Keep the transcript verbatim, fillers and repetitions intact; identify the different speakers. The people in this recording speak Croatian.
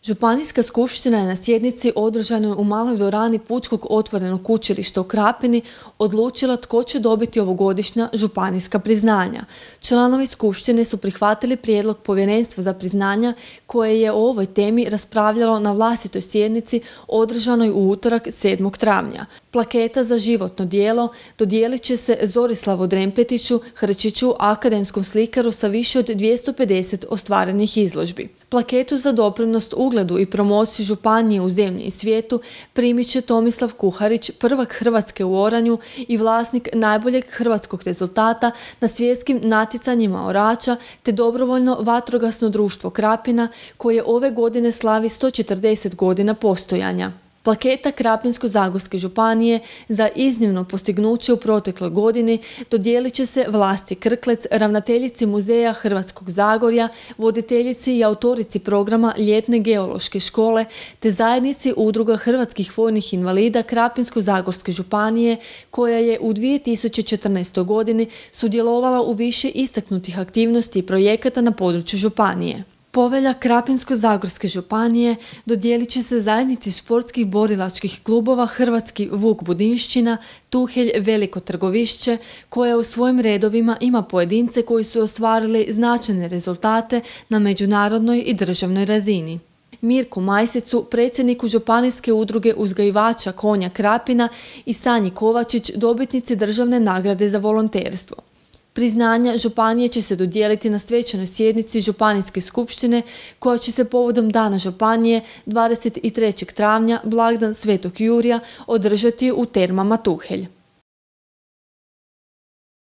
Speaker 1: Županijska skupština je na sjednici održanoj u maloj dvorani Pučkog otvorenog učilišta u Krapini odlučila tko će dobiti ovogodišnja županijska priznanja. Članovi skupštine su prihvatili prijedlog Povjerenstva za priznanja koje je o ovoj temi raspravljalo na vlastitoj sjednici održanoj u utorak sedmog travnja. Plaketa za životno djelo dodijelit će se Zorislavu Drempetiću Hrčiću, akademskom slikaru sa više od dvjesto pedeset ostvarenih izložbi. Plaketu za doprinos ugledu i promociju županije u zemlji i svijetu primit će Tomislav Kuharić, prvak Hrvatske u oranju i vlasnik najboljeg hrvatskog rezultata na svjetskim natjecanjima orača, te dobrovoljno vatrogasno društvo Krapina koje ove godine slavi sto četrdeset godina postojanja. Plaketa Krapinsko-zagorske županije za iznimno postignuće u protekloj godini dodijelit će se Vlasti Krklec, ravnateljici Muzeja Hrvatskog Zagorja, voditeljici i autorici programa Ljetne geološke škole, te zajednici Udruga hrvatskih vojnih invalida Krapinsko-zagorske županije, koja je u dvije tisuće četrnaestoj godini sudjelovala u više istaknutih aktivnosti i projekata na području županije. Povelja Krapinsko-zagorske županije dodijelit će se zajednici športskih borilačkih klubova Hrvatski Vuk Budinšćina, Tuhelj Veliko Trgovišće, koja u svojim redovima ima pojedince koji su ostvarili značajne rezultate na međunarodnoj i državnoj razini. Mirku Majsicu, predsjedniku Županijske udruge uzgajivača konja Krapina, i Sanji Kovačić, dobitnici državne nagrade za volonterstvo. Priznanja županije će se dodijeliti na svečanoj sjednici Županijske skupštine koja će se povodom Dana županije dvadeset trećeg travnja, blagdan Svetog Jurija, održati u Termama Tuhelj.